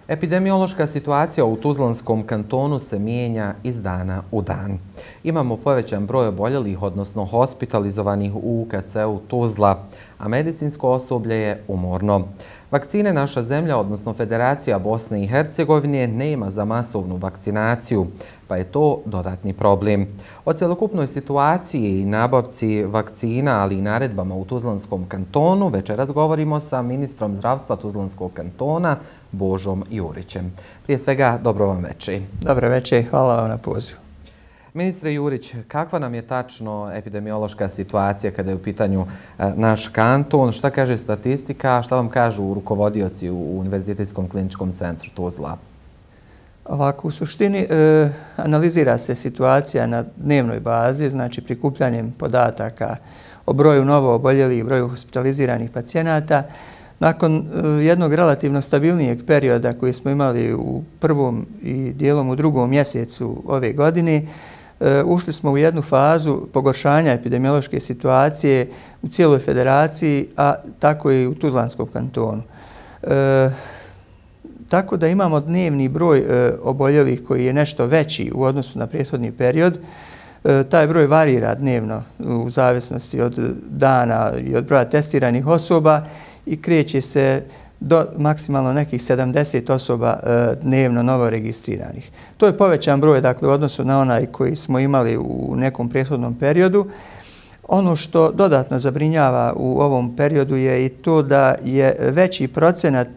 Epidemiološka situacija u Tuzlanskom kantonu se mijenja iz dana u dan. Imamo povećan broj oboljelih, odnosno hospitalizovanih u UKC-u Tuzla, a medicinsko osoblje je umorno. Vakcine naša zemlja, odnosno Federacija Bosne i Hercegovine, nema za masovnu vakcinaciju, pa je to dodatni problem. O cjelokupnoj situaciji i nabavci vakcina, ali i naredbama u Tuzlanskom kantonu, večeras govorimo sa ministrom zdravstva Tuzlanskog kantona, Božom Jurićem. Prije svega, dobro vam večer. Dobro večer, hvala vam na pozivu. Ministre Jurić, kakva nam je tačno epidemiološka situacija kada je u pitanju naš kanton? Šta kaže statistika, šta vam kažu rukovodioci u Univerzitetskom kliničkom centru Tuzla? Ovako, u suštini analizira se situacija na dnevnoj bazi, znači prikupljanjem podataka o broju novo oboljelih i broju hospitaliziranih pacijenata. Nakon jednog relativno stabilnijeg perioda koji smo imali u prvom i dijelom u drugom mjesecu ove godine, ušli smo u jednu fazu pogoršanja epidemiološke situacije u cijeloj federaciji, a tako i u Tuzlanskom kantonu. Tako da imamo dnevni broj oboljelih koji je nešto veći u odnosu na prethodni period. Taj broj varira dnevno u zavisnosti od dana i od broja testiranih osoba i kreće se do maksimalno nekih 70 osoba dnevno novo registriranih. To je povećan broj, dakle, u odnosu na onaj koji smo imali u nekom prethodnom periodu. Ono što dodatno zabrinjava u ovom periodu je i to da je veći procenat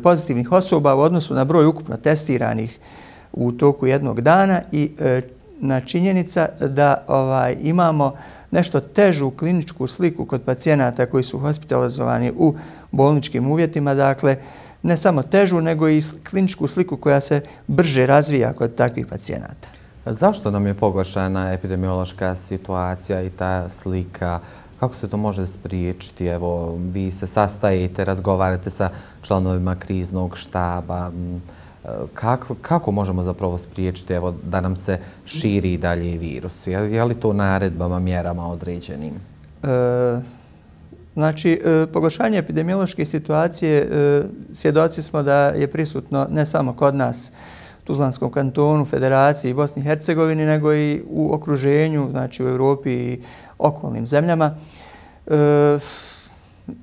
pozitivnih osoba u odnosu na broj ukupno testiranih u toku jednog dana i na činjenica da imamo nešto težu kliničku sliku kod pacijenata koji su hospitalizovani u bolničkim uvjetima, dakle ne samo težu, nego i kliničku sliku koja se brže razvija kod takvih pacijenata. Zašto nam je pogoršana epidemiološka situacija i ta slika? Kako se to može spriječiti? Evo, vi se sastajete, razgovarate sa članovima kriznog štaba. Kako možemo zapravo spriječiti da nam se širi dalje virus? Je li to naredbama, mjerama određenim? Znači, pogoršanje epidemiološke situacije svjedoci smo da je prisutno ne samo kod nas, Tuzlanskom kantonu, Federaciji i Bosni i Hercegovini, nego i u okruženju, znači u Europi i okolnim zemljama.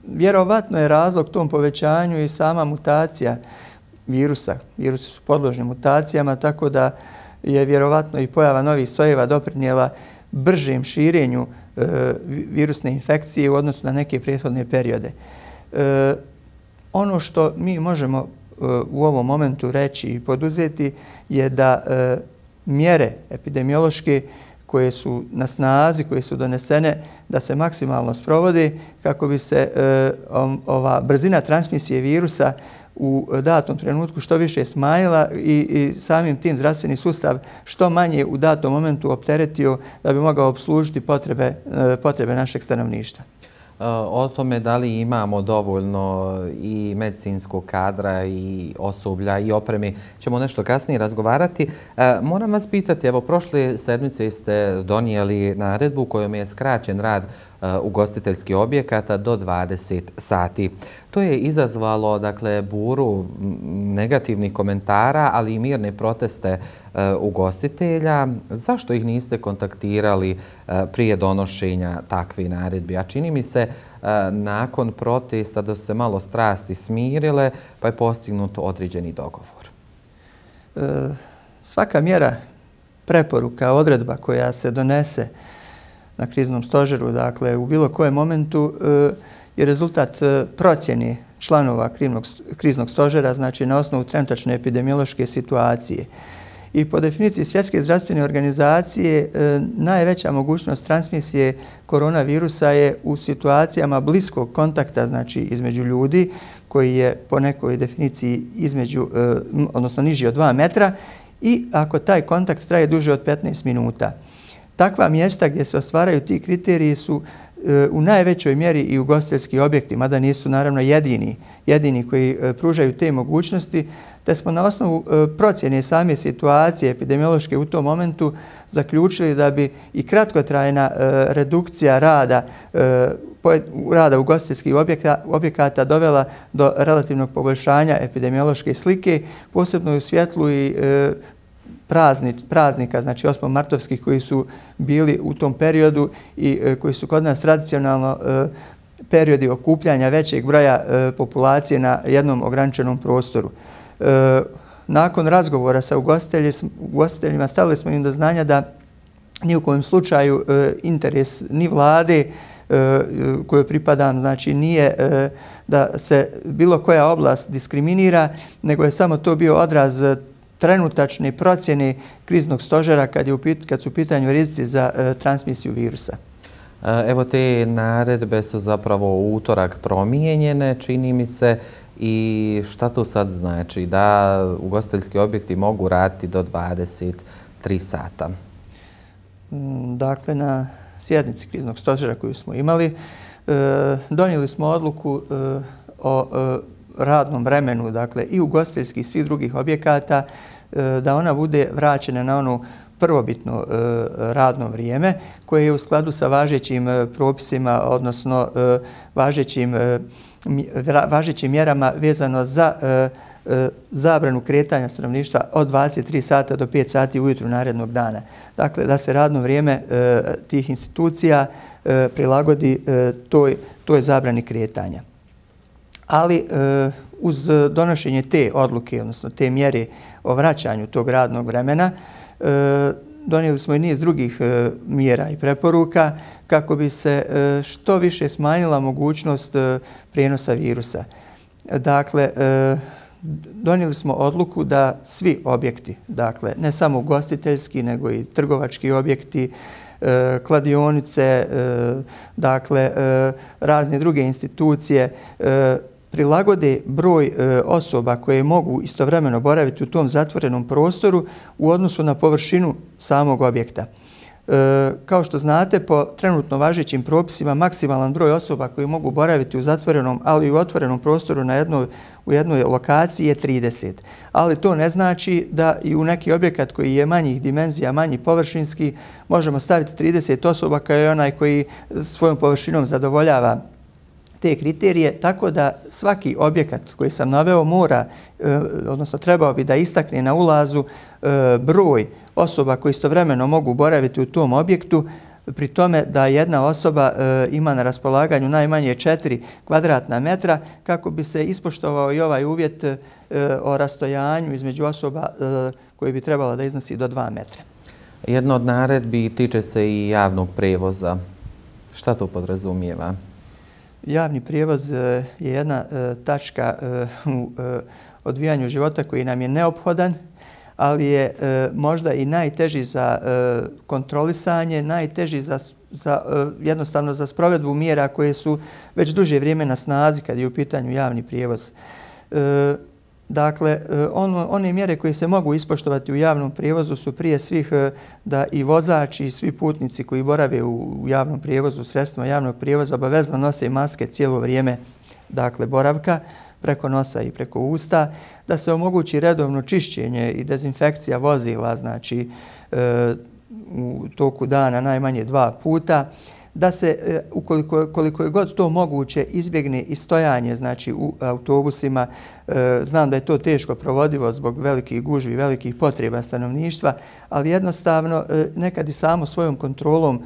Vjerovatno je razlog tom povećanju i sama mutacija virusa. Virusi su podložni mutacijama, tako da je vjerovatno i pojava novih sojeva doprinijela bržem širenju virusne infekcije u odnosu na neke prethodne periode. Ono što mi možemo u ovom momentu reći i poduzeti je da mjere epidemiološke koje su na snazi, koje su donesene, da se maksimalno sprovode kako bi se ova brzina transmisije virusa u datom trenutku što više smanjila i samim tim zdravstveni sustav što manje u datom momentu opteretio da bi mogao obslužiti potrebe našeg stanovništva. O tome da li imamo dovoljno i medicinskog kadra i osoblja i opreme ćemo nešto kasnije razgovarati. Moram vas pitati, evo prošle sedmice ste donijeli naredbu kojom je skraćen rad ugostiteljskih objekata do 20 sati. To je izazvalo, dakle, buru negativnih komentara, ali i mirne proteste ugostitelja. Zašto ih niste kontaktirali prije donošenja takve naredbi? A čini mi se nakon protesta da su se malo strasti smirile, pa je postignut određeni dogovor. Svaka mjera, preporuka, odredba koja se donese na kriznom stožeru, dakle u bilo kojem momentu, je rezultat procjene članova kriznog stožera, znači na osnovu trenutačne epidemiološke situacije. I po definiciji Svjetske zdravstvene organizacije najveća mogućnost transmisije koronavirusa je u situacijama bliskog kontakta, znači između ljudi, koji je po nekoj definiciji odnosno niži od 2 metra i ako taj kontakt traje duže od 15 minuta. Takva mjesta gdje se ostvaraju ti kriteriji su u najvećoj mjeri i ugostiteljski objekti, mada nisu naravno jedini koji pružaju te mogućnosti, te smo na osnovu procjene same situacije epidemiološke u tom momentu zaključili da bi i kratkotrajna redukcija rada rada ugostiteljskih objekata dovela do relativnog poboljšanja epidemiološke slike, posebno u svjetlu i praznika, znači 8. martovskih koji su bili u tom periodu i koji su kod nas tradicionalno periodi okupljanja većeg broja populacije na jednom ograničenom prostoru. Nakon razgovora sa ugostiteljima stavili smo im do znanja da ni u kojem slučaju interes ni vlade kojoj pripadam, znači nije da se bilo koja oblast diskriminira, nego je samo to bio odraz trenutačne procjene kriznog stožera kad su u pitanju rizici za transmisiju virusa. Evo, te naredbe su zapravo u utorak promijenjene, čini mi se, i šta to sad znači? Da ugostiteljski objekti mogu raditi do 23 sata? Dakle, na sjednici kriznog stožera koju smo imali, donijeli smo odluku o radnom vremenu, dakle i ugostiteljskih i svih drugih objekata, da ona bude vraćena na ono prvobitno radno vrijeme koje je u skladu sa važećim propisima, odnosno važećim mjerama vezano za zabranu kretanja stanovništva od 23 sata do 5 sati ujutru narednog dana. Dakle, da se radno vrijeme tih institucija prilagodi toj zabrani kretanja. Ali uz donošenje te odluke, odnosno te mjere o vraćanju tog radnog vremena, donijeli smo i niz drugih mjera i preporuka kako bi se što više smanjila mogućnost prijenosa virusa. Dakle, donijeli smo odluku da svi objekti, dakle ne samo ugostiteljski nego i trgovački objekti, kladionice, dakle razne druge institucije prilagode broj osoba koje mogu istovremeno boraviti u tom zatvorenom prostoru u odnosu na površinu samog objekta. Kao što znate, po trenutno važećim propisima maksimalan broj osoba koji mogu boraviti u zatvorenom, ali i u otvorenom prostoru u jednoj lokaciji je 30. Ali to ne znači da i u neki objekat koji je manjih dimenzija, manji površinski, možemo staviti 30 osoba kao je onaj koji svojom površinom zadovoljava te kriterije, tako da svaki objekat koji sam naveo mora, odnosno trebao bi da istakne na ulazu broj osoba koji istovremeno mogu boraviti u tom objektu, pri tome da jedna osoba ima na raspolaganju najmanje 4 kvadratna metra kako bi se ispoštovao i ovaj uvjet o rastojanju između osoba koji bi trebala da iznosi do 2 metra. Jedna od naredbi tiče se i javnog prevoza. Šta to podrazumijeva? Javni prijevoz je jedna tačka u odvijanju života koji nam je neophodan, ali je možda i najteži za kontrolisanje, najteži jednostavno za sprovedbu mjera koje su već duže vrijeme na snazi kad je u pitanju javni prijevoz. Dakle, one mjere koje se mogu ispoštovati u javnom prijevozu su prije svih da i vozači i svi putnici koji borave u javnom prijevozu, sredstvima javnog prijevoza, obavezno nose maske cijelo vrijeme, dakle, boravka, preko nosa i preko usta, da se omogući redovno čišćenje i dezinfekcija vozila, znači u toku dana najmanje 2 puta, da se, koliko je god to moguće, izbjegne i stojanje, znači u autobusima. Znam da je to teško provodivo zbog velikih gužvi, velikih potreba stanovništva, ali jednostavno nekad i samo svojom kontrolom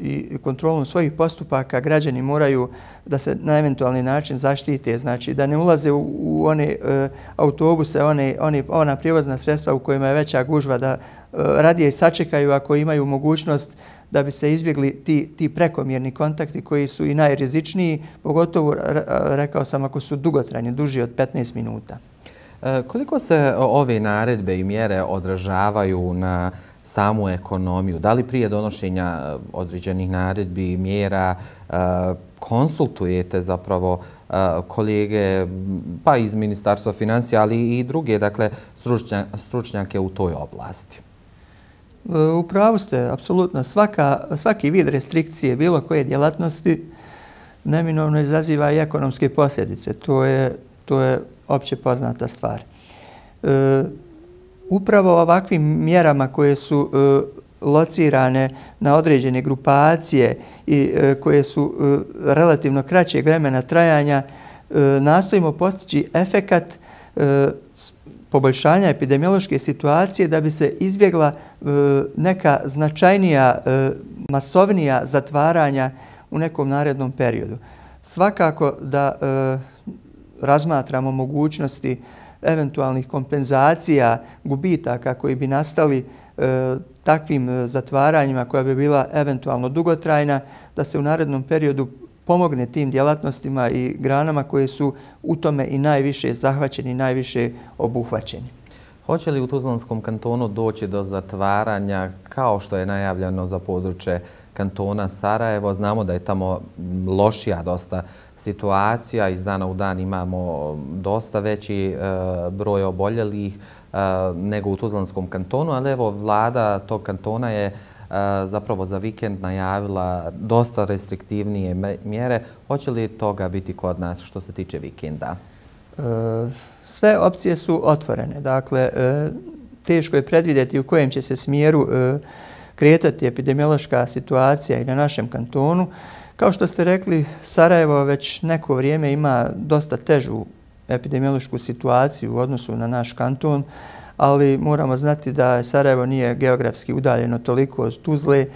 i kontrolom svojih postupaka građani moraju da se na eventualni način zaštite, znači da ne ulaze u one autobuse, ona prijevozna sredstva u kojima je veća gužva, da radije sačekaju ako imaju mogućnost da bi se izbjegli ti prekomjerni kontakti koji su i najrizičniji, pogotovo, rekao sam, ako su dugotrajni, duži od 15 minuta. Koliko se ove naredbe i mjere odražavaju na samu ekonomiju? Da li prije donošenja određenih naredbi i mjera konsultujete zapravo kolege pa iz Ministarstva financija, ali i druge, dakle, stručnjake u toj oblasti? U pravu ste, apsolutno. Svaki vid restrikcije bilo koje djelatnosti neminovno izaziva i ekonomske posljedice. To je opće poznata stvar. Upravo ovakvim mjerama koje su locirane na određene grupacije i koje su relativno kraćeg vremena trajanja, nastojimo postići efekat poboljšanja epidemiološke situacije da bi se izbjegla neka značajnija, masovnija zatvaranja u nekom narednom periodu. Svakako da razmatramo mogućnosti eventualnih kompenzacija, gubitaka koji bi nastali takvim zatvaranjima koja bi bila eventualno dugotrajna, da se u narednom periodu pomogne tim djelatnostima i granama koje su u tome i najviše zahvaćeni, najviše obuhvaćeni. Hoće li u Tuzlanskom kantonu doći do zatvaranja kao što je najavljeno za područje kantona Sarajevo? Znamo da je tamo lošija dosta situacija. Iz dana u dan imamo dosta veći broj oboljelih nego u Tuzlanskom kantonu, ali evo vlada tog kantona je zapravo za vikend najavila dosta restriktivnije mjere. Hoće li toga biti kod nas što se tiče vikenda? Sve opcije su otvorene. Dakle, teško je predvidjeti u kojem će se smjeru kretati epidemiološka situacija i na našem kantonu. Kao što ste rekli, Sarajevo već neko vrijeme ima dosta težu epidemiološku situaciju u odnosu na naš kanton, ali moramo znati da Sarajevo nije geografski udaljeno toliko od Tuzle,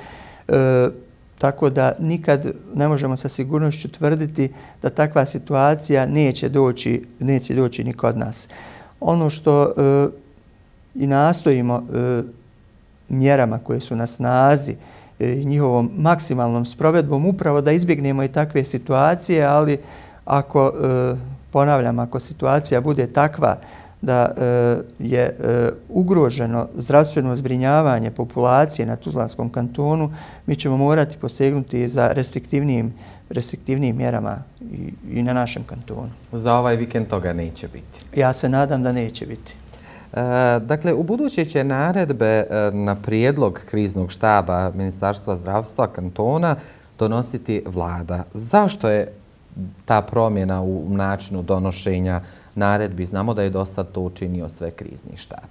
tako da nikad ne možemo sa sigurnošću tvrditi da takva situacija neće doći ni kod nas. Ono što i nastojimo mjerama koje su na snazi i njihovom maksimalnom sprovedbom upravo da izbjegnemo i takve situacije, ali ako, ponavljam, ako situacija bude takva da je ugroženo zdravstveno zbrinjavanje populacije na Tuzlanskom kantonu, mi ćemo morati posegnuti za restriktivnijim mjerama i na našem kantonu. Za ovaj vikend toga neće biti? Ja se nadam da neće biti. Dakle, u buduće će naredbe na prijedlog kriznog štaba Ministarstva zdravstva kantona donositi vlada. Zašto je ta promjena u načinu donošenja naredbi? Znamo da je do sad to učinio sve krizni štab.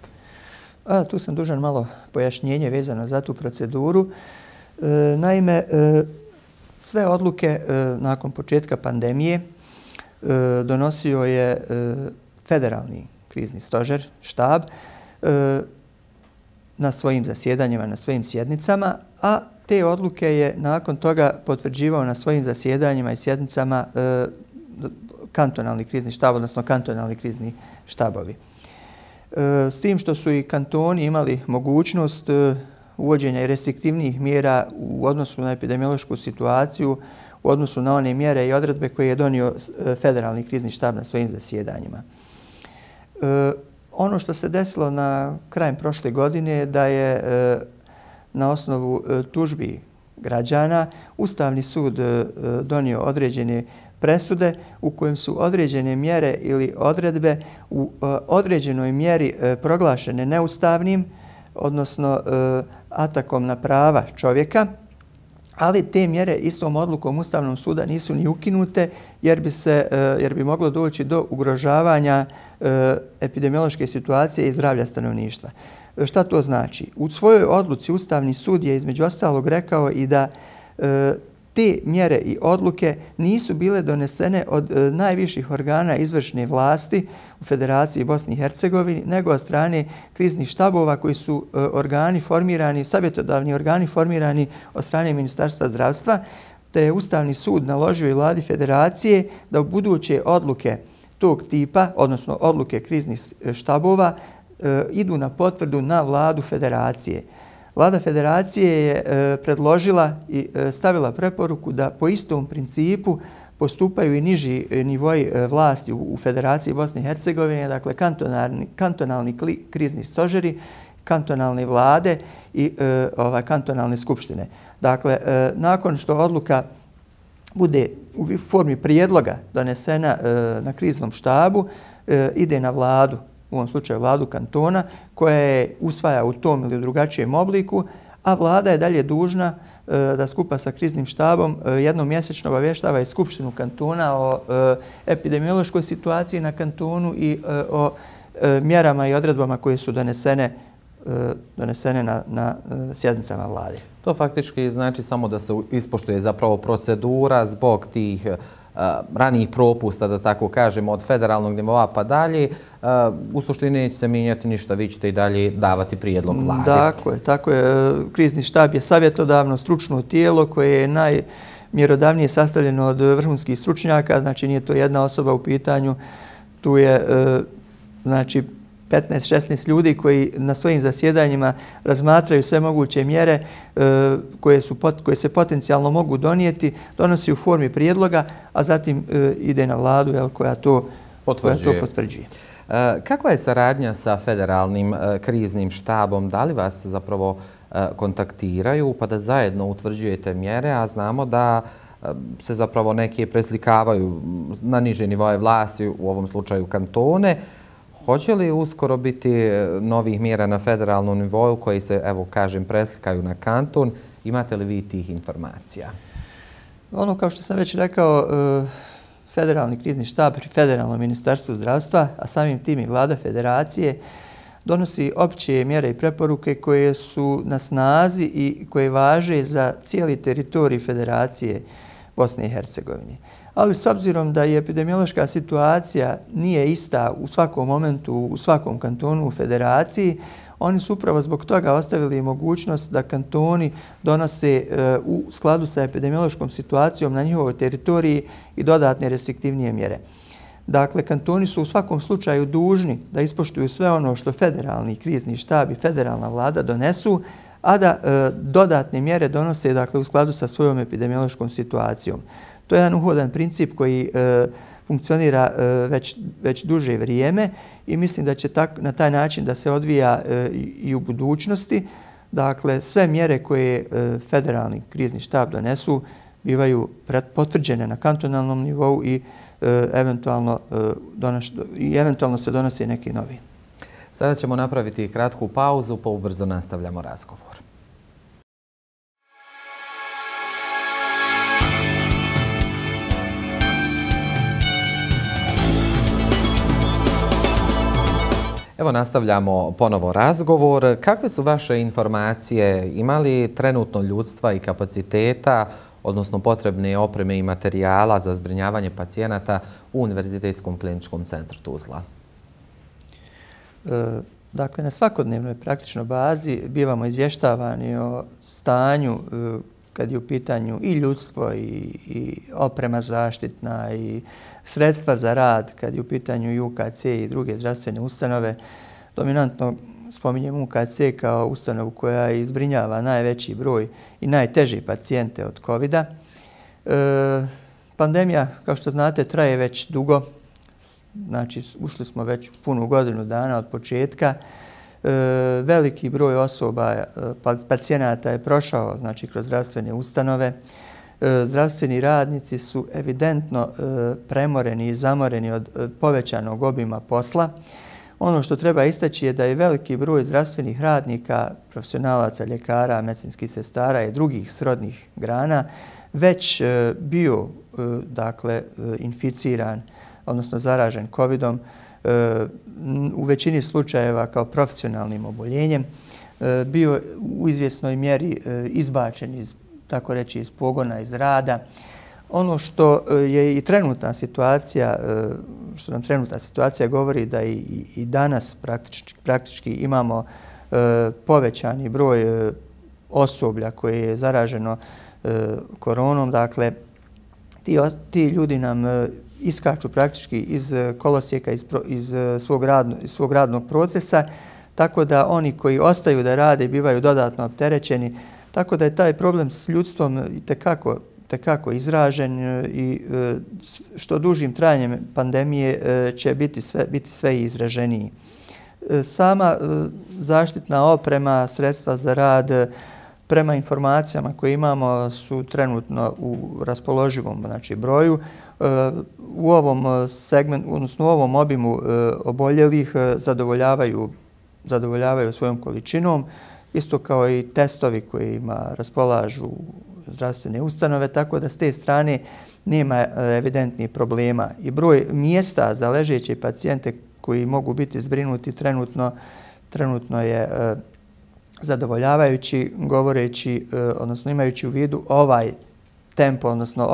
Tu sam dužan malo pojašnjenje vezano za tu proceduru. Naime, sve odluke nakon početka pandemije donosio je federalni krizni stožer, štab, na svojim zasjedanjima, na svojim sjednicama, a te odluke je nakon toga potvrđivao na svojim zasjedanjima i sjednicama kantonalni krizni štab, odnosno kantonalni krizni štabovi. S tim što su i kantoni imali mogućnost uvođenja i restriktivnijih mjera u odnosu na epidemiološku situaciju, u odnosu na one mjere i odredbe koje je donio federalni krizni štab na svojim zasjedanjima. Ono što se desilo na krajem prošle godine je da je na osnovu tužbi građana Ustavni sud donio određene presude u kojem su određene mjere ili odredbe u određenoj mjeri proglašene neustavnim, odnosno atakom na prava čovjeka, ali te mjere istom odlukom Ustavnog suda nisu ni ukinute jer bi moglo doći do ugrožavanja epidemiološke situacije i zdravlja stanovništva. Šta to znači? U svojoj odluci Ustavni sud je između ostalog rekao i da te mjere i odluke nisu bile donesene od najviših organa izvršne vlasti u Federaciji Bosni i Hercegovini, nego od strane kriznih štabova koji su organi formirani, savjetodavni organi formirani od strane Ministarstva zdravstva, te je Ustavni sud naložio i vladi Federacije da u buduće odluke tog tipa, odnosno odluke kriznih štabova, idu na potvrdu na vladu Federacije. Vlada Federacije je predložila i stavila preporuku da po istom principu postupaju i niži nivoji vlasti u Federaciji Bosne i Hercegovine, dakle kantonalni krizni stožeri, kantonalne vlade i kantonalne skupštine. Dakle, nakon što odluka bude u formi prijedloga donesena na kriznom štabu, ide na vladu, u ovom slučaju vladu kantona, koja je usvaja u tom ili drugačijem obliku, a vlada je dalje dužna da skupa sa kriznim štabom jednom mjesečno obavještava i Skupštinu kantona o epidemiološkoj situaciji na kantonu i o mjerama i odredbama koje su donesene donesene na sjednicama vlade. To faktički znači samo da se ispoštuje zapravo procedura zbog tih ranijih propusta, da tako kažemo, od federalnog nivoa pa dalje. U suštini neće se mijenjati ništa, vi ćete i dalje davati prijedlog vlade. Tako je. Krizni štab je savjetodavno stručno tijelo koje je najmjerodavnije sastavljeno od vrhunskih stručnjaka, znači nije to jedna osoba u pitanju, tu je znači 15-16 ljudi koji na svojim zasjedanjima razmatraju sve moguće mjere koje se potencijalno mogu donijeti, donosi u formi prijedloga, a zatim ide na vladu koja to potvrđuje. Kakva je saradnja sa federalnim kriznim štabom? Da li vas zapravo kontaktiraju pa da zajedno utvrđujete mjere, a znamo da se zapravo neke preslikavaju na niže nivoje vlasti, u ovom slučaju kantone. Hoće li uskoro biti novih mjera na federalnom nivou koji se, evo kažem, preslikaju na kanton? Imate li vi tih informacija? Ono, kao što sam već rekao, federalni krizni štab pri Federalnom ministarstvu zdravstva, a samim tim i vlada federacije, donosi opće mjere i preporuke koje su na snazi i koje važe za cijeli teritorij Federacije Bosne i Hercegovine. Ali s obzirom da je epidemiološka situacija nije ista u svakom momentu, u svakom kantonu u federaciji, oni su upravo zbog toga ostavili mogućnost da kantoni donose u skladu sa epidemiološkom situacijom na njihovoj teritoriji i dodatne restriktivnije mjere. Dakle, kantoni su u svakom slučaju dužni da ispoštuju sve ono što federalni krizni štab i federalna vlada donesu, a da dodatne mjere donose dakle, u skladu sa svojom epidemiološkom situacijom. To je jedan uhodan princip koji funkcionira već duže vrijeme i mislim da će na taj način da se odvija i u budućnosti. Dakle, sve mjere koje federalni krizni štab donesu bivaju potvrđene na kantonalnom nivou i eventualno se donose neki novi. Sada ćemo napraviti kratku pauzu, pa ubrzo nastavljamo razgovor. Evo nastavljamo ponovo razgovor. Kakve su vaše informacije? Ima li trenutno ljudstva i kapaciteta, odnosno potrebne opreme i materijala za zbrinjavanje pacijenata u Univerzitetskom kliničkom centru Tuzla? Dakle, na svakodnevnoj praktično bazi bivamo izvještavani o stanju kad je u pitanju i ljudstvo i oprema zaštitna i sredstva za rad, kad je u pitanju i UKC i druge zdravstvene ustanove. Dominantno spominjem UKC kao ustanovu koja izbrinjava najveći broj i najteže pacijente od COVID-a. Pandemija, kao što znate, traje već dugo. Znači, ušli smo već punu godinu dana od početka. Veliki broj osoba, pacijenata je prošao znači, kroz zdravstvene ustanove. Zdravstveni radnici su evidentno premoreni i zamoreni od povećanog obima posla. Ono što treba istaći je da je veliki broj zdravstvenih radnika, profesionalaca, ljekara, medicinskih sestara i drugih srodnih grana već bio dakle, inficiran, odnosno zaražen COVID-om, u većini slučajeva kao profesionalnim oboljenjem, bio u izvjesnoj mjeri izbačen iz, tako reći, iz pogona, iz rada. Ono što je i trenutna situacija, što nam trenutna situacija govori da i danas praktički imamo povećani broj osoblja koje je zaraženo koronom. Dakle, ti ljudi nam iskaču praktički iz kolosijeka, iz svog radnog procesa, tako da oni koji ostaju da rade bivaju dodatno opterećeni. Tako da je taj problem s ljudstvom itekako izražen i što dužim trajanjem pandemije će biti sve izraženiji. Sama zaštitna oprema, sredstva za rad, prema informacijama koje imamo su trenutno u raspoloživom znači, broju. U ovom segmentu, odnosno u ovom obimu oboljelih zadovoljavaju svojom količinom, isto kao i testovi kojima raspolažu zdravstvene ustanove, tako da s te strane nema evidentnih problema. I broj mjesta za ležeće pacijente koji mogu biti zbrinuti trenutno je zadovoljavajući, govoreći, odnosno imajući u vidu ovaj tempo, odnosno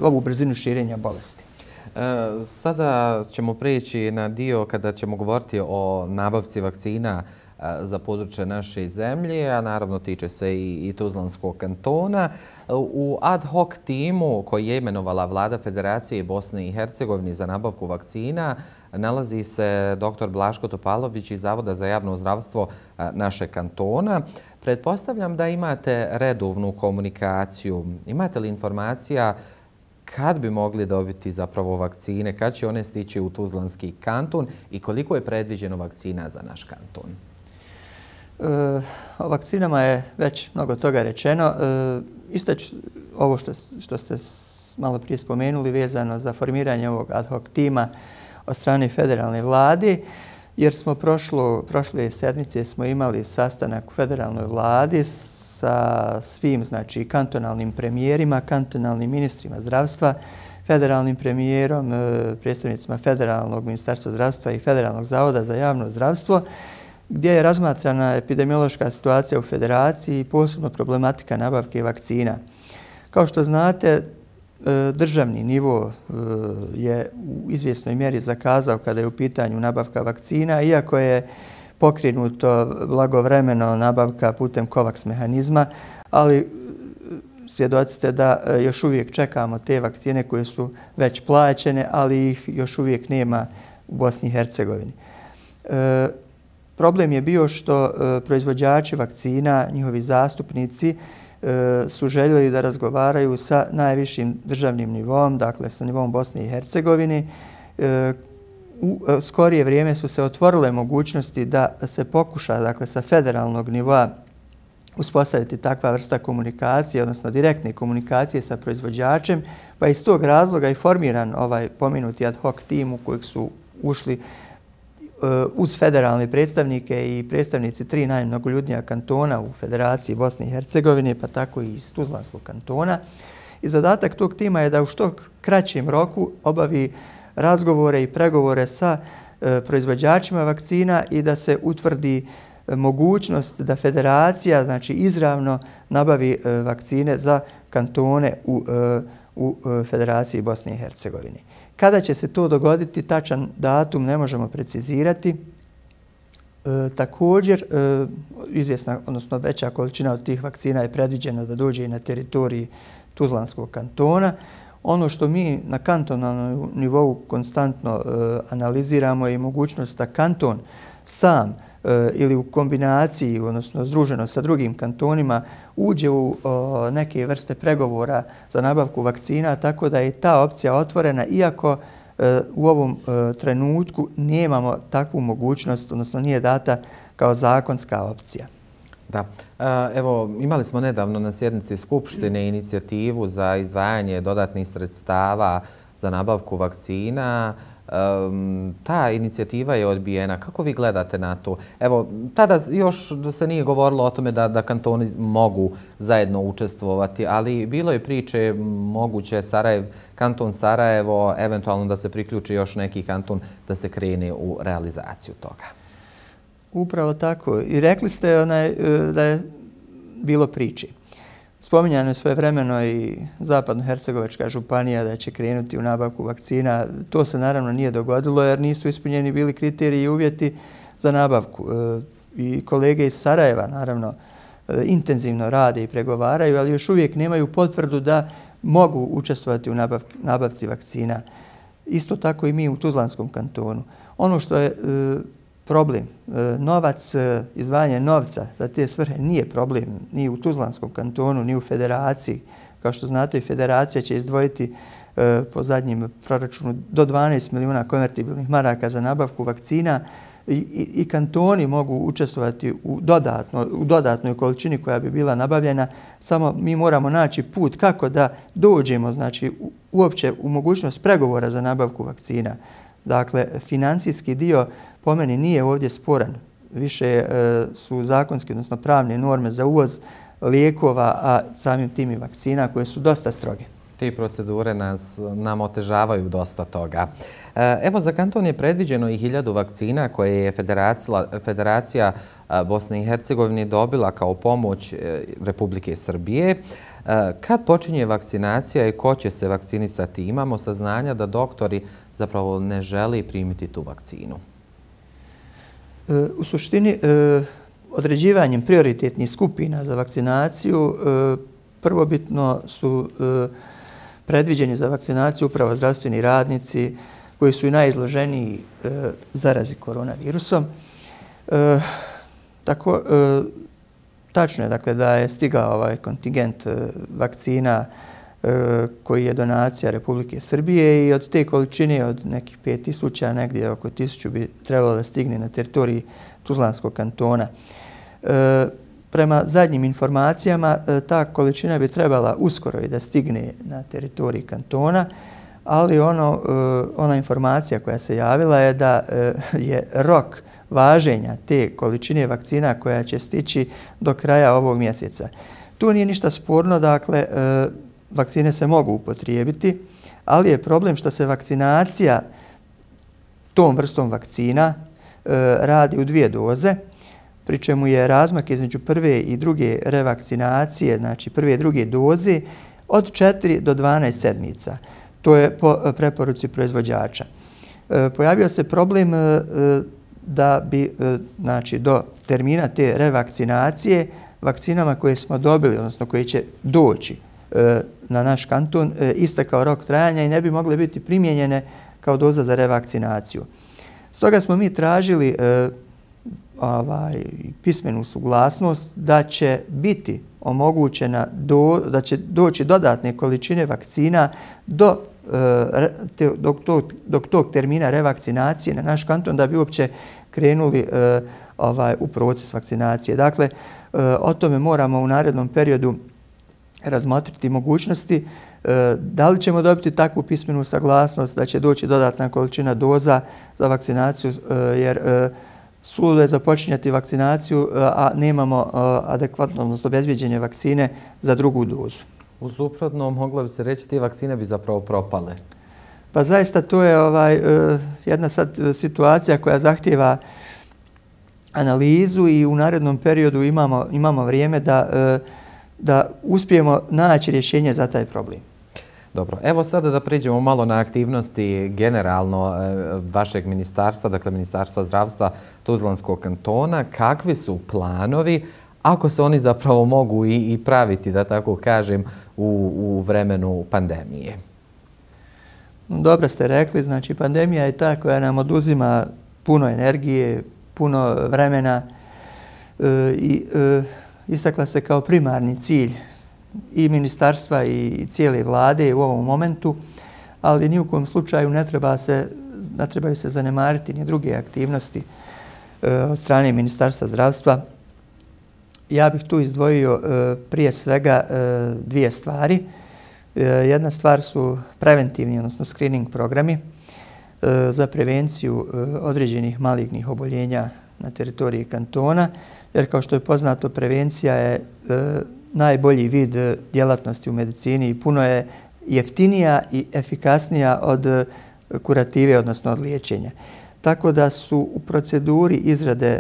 ovu brzinu širenja bolesti. Sada ćemo prijeći na dio kada ćemo govoriti o nabavci vakcina za područje naše zemlje, a naravno tiče se i Tuzlanskog kantona. U ad hoc timu koji je imenovala Vlada Federacije Bosne i Hercegovine za nabavku vakcina nalazi se dr. Blaško Topalović iz Zavoda za javno zdravstvo našeg kantona. Pretpostavljam da imate redovnu komunikaciju. Imate li informacija kad bi mogli dobiti zapravo vakcine, kad će one stići u Tuzlanski kanton i koliko je predviđeno vakcina za naš kanton? O vakcinama je već mnogo toga rečeno. Isto ovo što ste malo prije spomenuli vezano za formiranje ovog ad hoc tima od strane federalne vlade, jer smo prošle sedmice smo imali sastanak u federalnoj vladi sa svim, znači, kantonalnim premijerima, kantonalnim ministrima zdravstva, federalnim premijerom, predstavnicima Federalnog ministarstva zdravstva i Federalnog zavoda za javno zdravstvo, gdje je razmatrana epidemiološka situacija u federaciji i posebno problematika nabavke vakcina. Kao što znate, državni nivo je u izvjesnoj mjeri zakazao kada je u pitanju nabavka vakcina, iako je pokrenuto blagovremeno nabavka putem COVAX mehanizma, ali svjedoci ste da još uvijek čekamo te vakcine koje su već plaćene, ali ih još uvijek nema u Bosni i Hercegovini. Problem je bio što proizvođači vakcina, njihovi zastupnici, su željeli da razgovaraju sa najvišim državnim nivom, dakle sa nivom Bosne i Hercegovine. U skorije vrijeme su se otvorile mogućnosti da se pokuša, dakle, sa federalnog nivoa uspostaviti takva vrsta komunikacije, odnosno direktne komunikacije sa proizvođačem, pa iz tog razloga je formiran ovaj pomenuti ad hoc tim u kojeg su ušli uz federalne predstavnike i predstavnici 3 najmnogoljudnija kantona u Federaciji Bosne i Hercegovine, pa tako i iz Tuzlanskog kantona. I zadatak tog tima je da u što kraćem roku obavi razgovore i pregovore sa proizvođačima vakcina i da se utvrdi mogućnost da federacija, znači, izravno nabavi vakcine za kantone u Federaciji Bosne i Hercegovine. Kada će se to dogoditi, tačan datum ne možemo precizirati. Također, izvjesna, odnosno veća količina od tih vakcina je predviđena da dođe i na teritoriji Tuzlanskog kantona. Ono što mi na kantonalnom nivou konstantno analiziramo je mogućnost da kanton sam ili u kombinaciji, odnosno združeno sa drugim kantonima, uđe u neke vrste pregovora za nabavku vakcina, tako da je ta opcija otvorena, iako u ovom trenutku nemamo takvu mogućnost, odnosno nije data kao zakonska opcija. Da. Evo, imali smo nedavno na sjednici Skupštine inicijativu za izdvajanje dodatnih sredstava za nabavku vakcina. Ta inicijativa je odbijena. Kako vi gledate na to? Evo, tada još se nije govorilo o tome da kantoni mogu zajedno učestvovati, ali bilo je priče moguće kanton Sarajevo, eventualno da se priključi još neki kanton da se krene u realizaciju toga. Upravo tako. I rekli ste da je bilo priče. Spominjano je svojevremeno i Zapadno-Hercegovačka županija da će krenuti u nabavku vakcina. To se naravno nije dogodilo jer nisu ispunjeni bili kriteriji i uvjeti za nabavku. I kolege iz Sarajeva naravno intenzivno rade i pregovaraju, ali još uvijek nemaju potvrdu da mogu učestvovati u nabavci vakcina. Isto tako i mi u Tuzlanskom kantonu. Ono što je problem, novac, izdvajanje novca za te svrhe nije problem ni u Tuzlanskom kantonu, ni u federaciji. Kao što znate, federacija će izdvojiti po zadnjim proračunu do 12 milijuna konvertibilnih maraka za nabavku vakcina i kantoni mogu učestvovati u dodatnoj količini koja bi bila nabavljena. Samo mi moramo naći put kako da dođemo, znači, uopće u mogućnost pregovora za nabavku vakcina. Dakle, financijski dio po meni nije ovdje sporan. Više su zakonske, odnosno pravne norme za uvoz lijekova, a samim tim i vakcina koje su dosta stroge. Te procedure nam otežavaju dosta toga. Evo, za kanton je predviđeno i 1000 vakcina koje je Federacija Bosne i Hercegovine dobila kao pomoć Republike Srbije. Kad počinje vakcinacija i ko će se vakcinisati? Imamo saznanja da doktori zapravo ne žele primiti tu vakcinu. U suštini, određivanjem prioritetnih skupina za vakcinaciju prvobitno su predviđeni za vakcinaciju upravo zdravstveni radnici koji su i najizloženiji zarazi koronavirusom. Tako, tačno je dakle, da je stigao ovaj kontingent vakcina koji je donacija Republike Srbije i od te količine od nekih 5000, negdje oko 1000 bi trebalo da stigne na teritoriji Tuzlanskog kantona. Prema zadnjim informacijama, ta količina bi trebala uskoro i da stigne na teritoriji kantona, ali ona informacija koja se javila je da je rok važenja te količine vakcina koja će stići do kraja ovog mjeseca. Tu nije ništa sporno, dakle, vakcine se mogu upotrijebiti, ali je problem što se vakcinacija tom vrstom vakcina radi u 2 doze, pri čemu je razmak između prve i druge revakcinacije, znači prve i druge doze, od 4 do 12 sedmica. To je po preporuci proizvođača. Pojavio se problem da bi, znači, do termina te revakcinacije vakcinama koje smo dobili, odnosno koje će doći na naš kanton, istekao rok trajanja i ne bi mogle biti primijenjene kao doza za revakcinaciju. Stoga smo mi tražili pismenu suglasnost da će biti omogućena, da će doći dodatne količine vakcina do tog termina revakcinacije na naš kanton da bi uopće krenuli u proces vakcinacije. Dakle, o tome moramo u narednom periodu razmotriti mogućnosti da li ćemo dobiti takvu pismenu saglasnost da će doći dodatna količina doza za vakcinaciju, jer suludo je započinjati vakcinaciju, a nemamo adekvatno, odnosno obezbeđene vakcine za drugu dozu. U suprotnom, moglo bi se reći, te vakcine bi zapravo propale. Pa zaista to je jedna sad situacija koja zahtijeva analizu i u narednom periodu imamo vrijeme da uspijemo naći rješenje za taj problem. Dobro, evo sada da pređemo malo na aktivnosti generalno vašeg ministarstva, dakle Ministarstva zdravstva Tuzlanskog kantona. Kakvi su planovi, ako se oni zapravo mogu i praviti, da tako kažem, u vremenu pandemije? Dobro ste rekli, znači pandemija je ta koja nam oduzima puno energije, puno vremena i istakla se kao primarni cilj i ministarstva i cijele vlade u ovom momentu, ali ni u kojem slučaju ne trebaju se zanemariti ni druge aktivnosti od strane Ministarstva zdravstva. Ja bih tu izdvojio prije svega 2 stvari. Jedna stvar su preventivni, odnosno screening programi za prevenciju određenih malignih oboljenja na teritoriji kantona, jer kao što je poznato, prevencija je najbolji vid djelatnosti u medicini i puno je jeftinija i efikasnija od kurative, odnosno od liječenja. Tako da su u proceduri izrade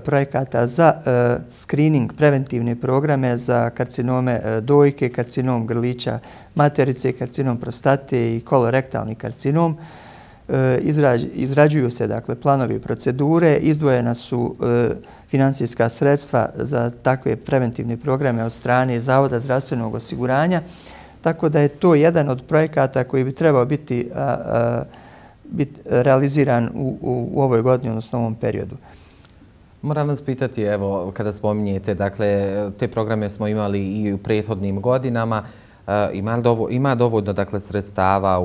projekata za screening, preventivne programe za karcinome dojke, karcinom grlića materice, karcinom prostate i kolorektalni karcinom. Izrađuju se dakle planovi i procedure, izdvojena su financijska sredstva za takve preventivne programe od strane Zavoda zdravstvenog osiguranja, tako da je to jedan od projekata koji bi trebao biti realiziran u ovoj godini, odnosno u ovom periodu. Moram vas pitati, evo, kada spominjete, dakle, te programe smo imali i u prethodnim godinama, ima dovoljno, dakle, sredstava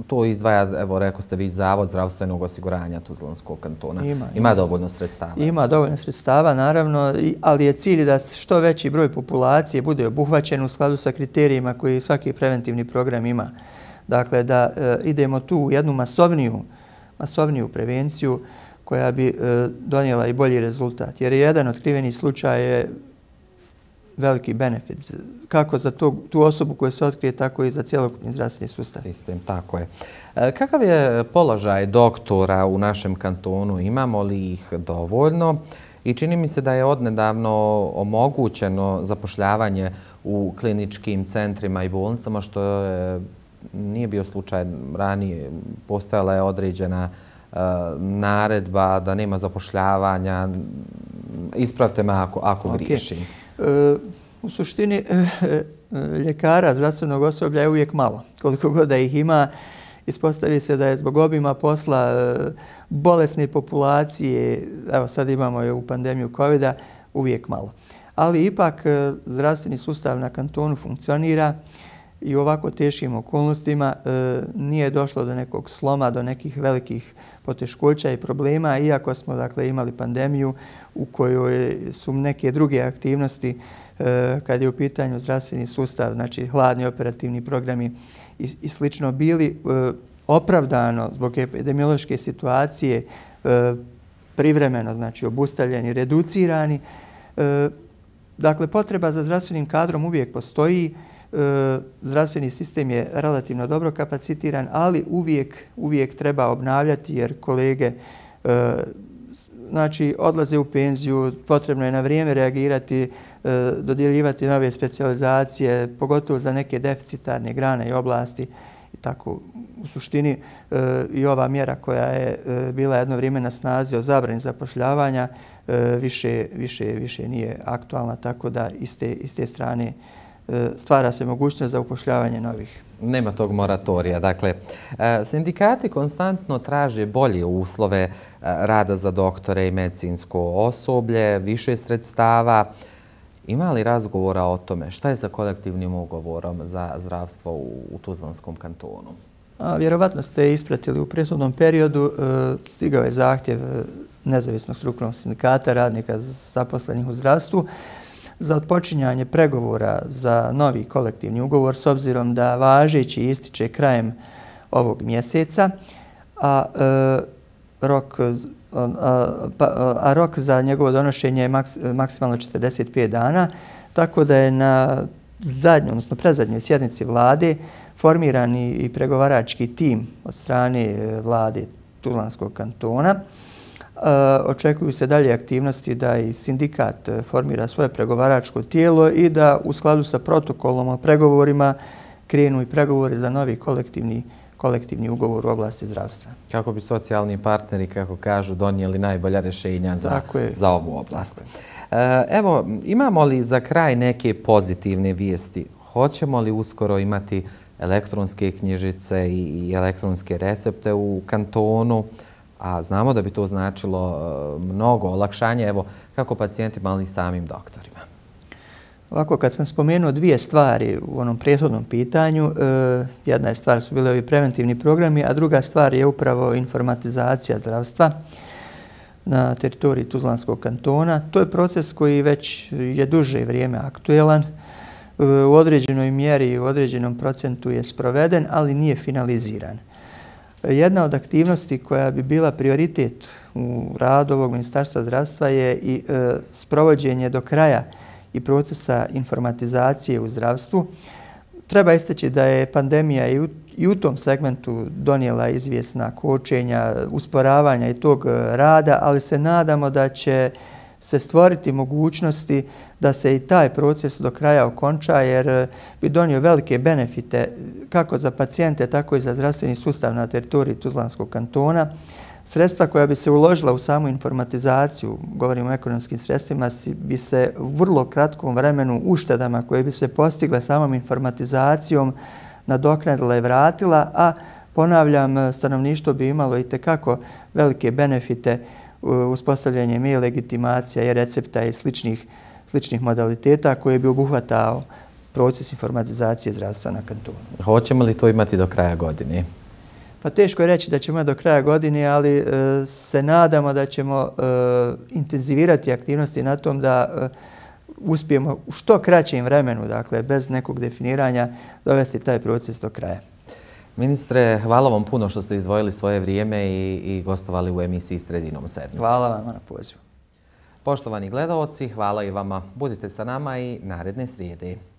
to izdvaja, evo, rekao ste vi, Zavod zdravstvenog osiguranja Tuzlanskog kantona. Ima dovoljno sredstava? Ima dovoljno sredstava, naravno, ali je cilj da što veći broj populacije bude obuhvaćen u skladu sa kriterijima koji svaki preventivni program ima. Dakle, da idemo tu u jednu masovniju prevenciju koja bi donijela i bolji rezultat. Jer jedan otkrivenih slučaj je veliki benefit. Kako za tu osobu koja se otkrije, tako i za cjelokupni zdravstveni sustav. Sistem, tako je. Kakav je položaj doktora u našem kantonu? Imamo li ih dovoljno? I čini mi se da je odnedavno omogućeno zapošljavanje u kliničkim centrima i bolnicama, što nije bio slučaj ranije. Postojala je određena naredba da nema zapošljavanja. Ispravite me ako griješim. U suštini, ljekara, zdravstvenog osoblja je uvijek malo. Koliko god da ih ima, ispostavi se da je zbog obima posla, bolesne populacije, evo sad imamo je u pandemiju COVID-a, uvijek malo. Ali ipak zdravstveni sustav na kantonu funkcionira i u ovako teškim okolnostima nije došlo do nekog sloma, do nekih velikih poteškoća i problema, iako smo dakle imali pandemiju u kojoj su neke druge aktivnosti kad je u pitanju zdravstveni sustav, znači hladni operativni programi i slično, bili opravdano zbog epidemiološke situacije privremeno, znači obustavljeni, reducirani. Dakle, potreba za zdravstvenim kadrom uvijek postoji. Zdravstveni sistem je relativno dobro kapacitiran, ali uvijek treba obnavljati jer kolege znači odlaze u penziju, potrebno je na vrijeme reagirati, dodjeljivati nove specijalizacije, pogotovo za neke deficitarne grane i oblasti. I tako, u suštini i ova mjera koja je bila jedno vrijeme na snazi o zabrani zapošljavanja više nije aktualna, tako da iz te strane stvara se mogućnost za upošljavanje novih. Nema tog moratorija. Dakle, sindikati konstantno traže bolje uslove rada za doktore i medicinsko osoblje, više sredstava. Ima li razgovora o tome? Šta je sa kolektivnim ugovorom za zdravstvo u Tuzlanskom kantonu? Vjerovatno ste ispratili u prethodnom periodu. Stigao je zahtjev nezavisnog strukovnog sindikata radnika zaposlenih u zdravstvu za otpočinjanje pregovora za novi kolektivni ugovor s obzirom da važeći ističe krajem ovog mjeseca, a rok za njegovo donošenje je maksimalno 45 dana, tako da je na predzadnjoj sjednici vlade formiran i pregovarački tim od strane vlade Tuzlanskog kantona. Očekuju se dalje aktivnosti da i sindikat formira svoje pregovaračko tijelo i da u skladu sa protokolom o pregovorima krenu i pregovori za novi kolektivni ugovor u oblasti zdravstva. Kako bi socijalni partneri, kako kažu, donijeli najbolja rješenja za ovu oblast. Evo, imamo li za kraj neke pozitivne vijesti? Hoćemo li uskoro imati elektronske knjižice i elektronske recepte u kantonu? A znamo da bi to značilo mnogo olakšanja, evo, kako pacijentima, ali i samim doktorima. Ovako, kad sam spomenuo dvije stvari u onom prethodnom pitanju, jedna je stvar su bili ovi preventivni programi, a druga stvar je upravo informatizacija zdravstva na teritoriji Tuzlanskog kantona. To je proces koji već je duže vrijeme aktuelan. U određenoj mjeri i u određenom procentu je sproveden, ali nije finaliziran. Jedna od aktivnosti koja bi bila prioritet u radu ovog Ministarstva zdravstva je i sprovođenje do kraja i procesa informatizacije u zdravstvu. Treba istaći da je pandemija i u tom segmentu donijela izvjesna kočenja, usporavanja i tog rada, ali se nadamo da će se stvoriti mogućnosti da se i taj proces do kraja okonča, jer bi donio velike benefite kako za pacijente, tako i za zdravstveni sustav na teritoriji Tuzlanskog kantona. Sredstva koja bi se uložila u samu informatizaciju, govorimo o ekonomskim sredstvima, bi se u vrlo kratkom vremenu uštedama koje bi se postigle samom informatizacijom nadoknadila i vratila, a ponavljam, stanovništvo bi imalo i tekako velike benefite uspostavljanjem e-legitimacija i recepta i sličnih modaliteta koje bi obuhvatao proces informatizacije zdravstva na kantonu. Hoćemo li to imati do kraja godine? Pa teško je reći da ćemo imati do kraja godine, ali se nadamo da ćemo intenzivirati aktivnosti na tom da uspijemo u što kraćem vremenu, dakle bez nekog definiranja, dovesti taj proces do kraja. Ministre, hvala vam puno što ste izdvojili svoje vrijeme i gostovali u emisiji Sredinom sedmice. Hvala vam na pozivu. Poštovani gledaoci, hvala i vama. Budite sa nama i naredne srijede.